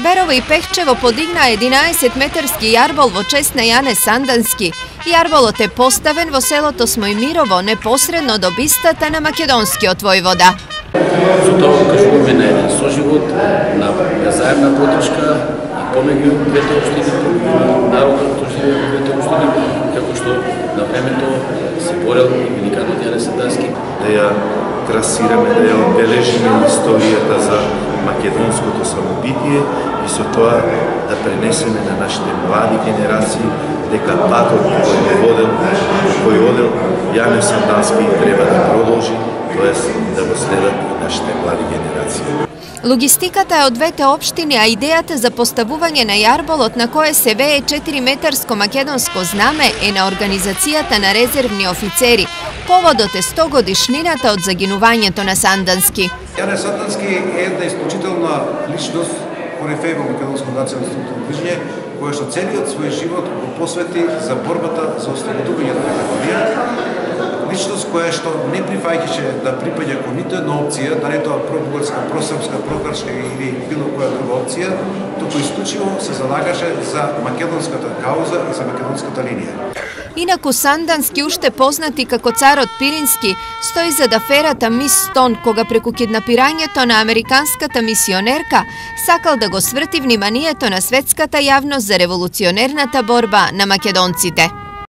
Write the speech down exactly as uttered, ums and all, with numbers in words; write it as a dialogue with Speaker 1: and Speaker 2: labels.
Speaker 1: Берово и Пехчево подигна единаесет метарски јарбол во чест на Јане Сандански. Јарболот е поставен во селото Смојмирово, непосредно до бистата на македонскиот војвода.
Speaker 2: За тоа кажуваме на еден соживот, на заедна подршка и помеѓу двете општини, народот што живее во двете општини, како што на времето се борел и великанот Јане Сандански.
Speaker 3: Да ја трасираме, да ја одбележиме историјата за македонското самобитие и со тоа да пренесеме на нашите млади генерации дека патот кој водел, кој одел Јане Сандански треба да продолжи, тоест да го следат и нашите млади генерации.
Speaker 1: Логистиката е од двете општини, а идејата за поставување на јарболот на кое се вее четириметарско македонско знаме е на организацијата на резервни офицери. Поводот е сто годишнината од загинувањето на Сандански.
Speaker 4: Јане Сандански е една исклучителна личност, корифеј во македонско национално движење, која што целиот свој живот го посвети за борбата за ослободувањето на Македонија. Личност која што не прифаќаше да припаѓа кон ниту една опција, дали тоа пробугарска, просрпска, прокршка или било која друга опција, туку исклучиво се залагаше за македонската кауза и за македонската линија.
Speaker 1: Инаку Сандански, уште познати како царот Пирински, стои зад аферата Мис Стон, кога преку киднапирањето на американската мисионерка сакал да го сврти вниманието на светската јавност за револуционерната борба на македонците.